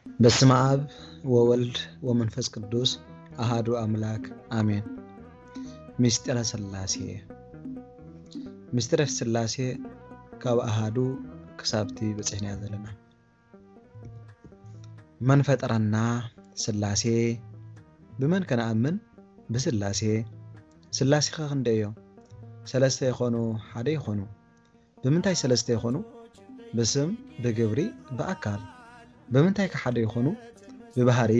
በስመ አብ ወወልድ ወመንፈስ ቅዱስ አሃዱ አምላክ አሜን። ምስጢረ ሥላሴ። ምስጢረ ሥላሴ ካብ ኣሃዱ ክሳብቲ በጺሕናዮ ዘለና። መን ፈጠረና? ሥላሴ። ብመን ከነኣምን? ብሥላሴ። ሥላሴ ኸ ክንደይ እዮም? ሰለስተ ይኾኑ፣ ሓደ ይኾኑ። ብምንታይ ሰለስተ ይኾኑ? ብስም፣ ብግብሪ፣ ብኣካል። ብምንታይ ከ ሓደ ይኾኑ? ብባህሪ፣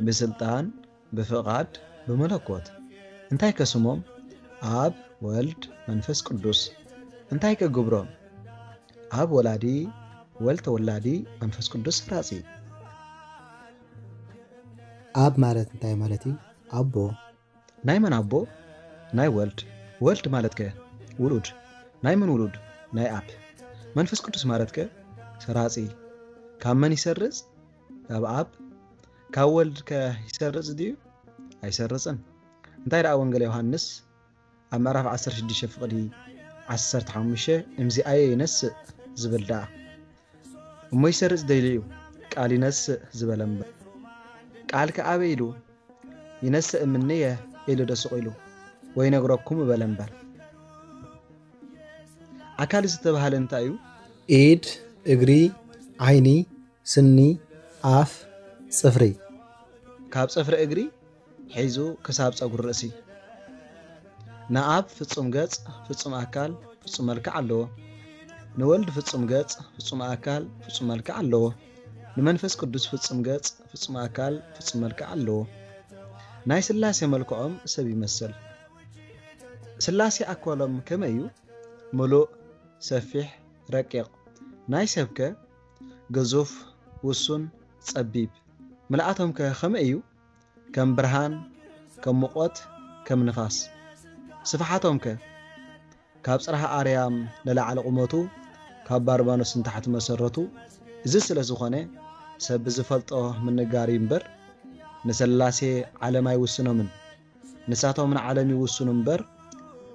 ብስልጣን፣ ብፍቓድ፣ ብመለኮት። እንታይ ከ ስሞም? ኣብ፣ ወልድ፣ መንፈስ ቅዱስ። እንታይ ከ ግብሮም? ኣብ ወላዲ፣ ወልድ ተወላዲ፣ መንፈስ ቅዱስ ሰራጺ። ኣብ ማለት እንታይ ማለት እዩ? ኣቦ። ናይ መን ኣቦ? ናይ ወልድ። ወልድ ማለት ከ? ውሉድ። ናይ መን ውሉድ? ናይ ኣብ። መንፈስ ቅዱስ ማለት ከ? ሰራጺ። ካብ መን ይሰርጽ? ካብ ኣብ። ካብ ወልድ ከ ይሰርጽ ድዩ? ኣይሰርጽን። እንታይ ደኣ ወንጌል ዮሃንስ ኣብ ምዕራፍ ዓሰርተ ሽዱሽተ ፍቕዲ ዓሰርተ ሓሙሽተ፣ እምዚኣየ ይነስእ ዝብል ደኣ። እሞ ይሰርጽ ደይሉ እዩ፣ ቃል ይነስእ ዝበለ እምበር። ቃል ከ ኣበይ ኢሉ? ይነስእ እምንየ ኢሉ ዶ ስቕ ኢሉ? ወይ ነግረኩም በለ እምበር። ኣካል ዝተባህለ እንታይ እዩ? ኢድ፣ እግሪ፣ ዓይኒ፣ ስኒ፣ ኣፍ፣ ጽፍሪ። ካብ ጽፍሪ እግሪ ሒዙ ክሳብ ጸጉሪ ርእሲ። ንኣብ ፍጹም ገጽ፣ ፍጹም ኣካል፣ ፍጹም መልክዕ ኣለዎ። ንወልድ ፍጹም ገጽ፣ ፍጹም ኣካል፣ ፍጹም መልክዕ ኣለዎ። ንመንፈስ ቅዱስ ፍጹም ገጽ፣ ፍጹም ኣካል፣ ፍጹም መልክዕ ኣለዎ። ናይ ሥላሴ መልክዖም ሰብ ይመስል። ሥላሴ ኣካሎም ከመይ እዩ? ምሉእ፣ ሰፊሕ፣ ረቂቕ። ናይ ሰብከ? ግዙፍ፣ ውሱን፣ ጸቢብ። ምልኣቶም ከ ከመይ እዩ? ከም ብርሃን፣ ከም ሙቐት፣ ከም ንፋስ። ስፍሓቶም ከ? ካብ ጽርሐ ኣርያም ንላዕሊ ቁመቱ፣ ካብ ባርባኖስ ንታሕቲ መሰረቱ። እዚ ስለ ዝኾነ፣ ሰብ ብዝፈልጦ ምንጋር እዩ እምበር፣ ንስላሴ ዓለም ኣይውስኖምን። ንሳቶም ንዓለም ይውስኑ እምበር፣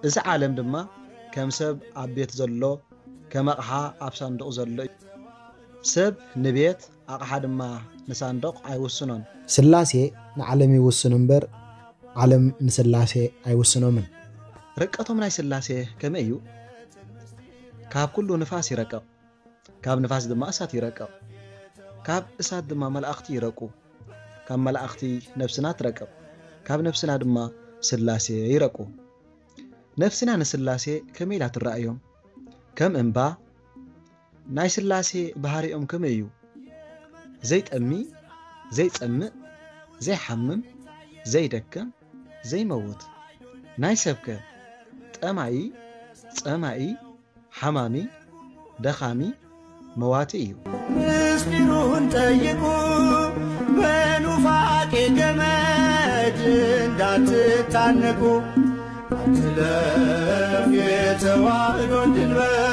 እዚ ዓለም ድማ ከም ሰብ ኣብ ቤት ዘሎ፣ ከም ኣቕሓ ኣብ ሳንዱቕ ዘሎ እዩ። ሰብ ንቤት፣ ኣቕሓ ድማ ንሳንዱቕ ኣይውስኖን። ስላሴ ንዓለም ይውስኑ እምበር፣ ዓለም ንስላሴ ኣይውስኖምን። ርቀቶም ናይ ስላሴ ከመይ እዩ? ካብ ኩሉ ንፋስ ይረቅቕ፣ ካብ ንፋስ ድማ እሳት ይረቅቕ፣ ካብ እሳት ድማ መላእኽቲ ይረቁ፣ ካብ መላእኽቲ ነፍስና ትረቅቕ፣ ካብ ነፍስና ድማ ስላሴ ይረቁ። ነፍስና ንስላሴ ከመይ ኢላ ትረኣዮም? ከም እምባ። ናይ ስላሴ ባህሪኦም ከመይ እዩ? ዘይጠሚ፣ ዘይጸምእ፣ ዘይሓምም፣ ዘይደክም፣ ዘይመውት። ናይ ሰብከ? ጠማኢ፣ ጸማኢ፣ ሓማሚ፣ ደኻሚ፣ መዋቲ እዩ። ምስጢሩን ጠይቁ፣ በኑፋቄ ገመድ እንዳትታነቁ፣ ኣትለፍ የተዋህዶን ድንበር።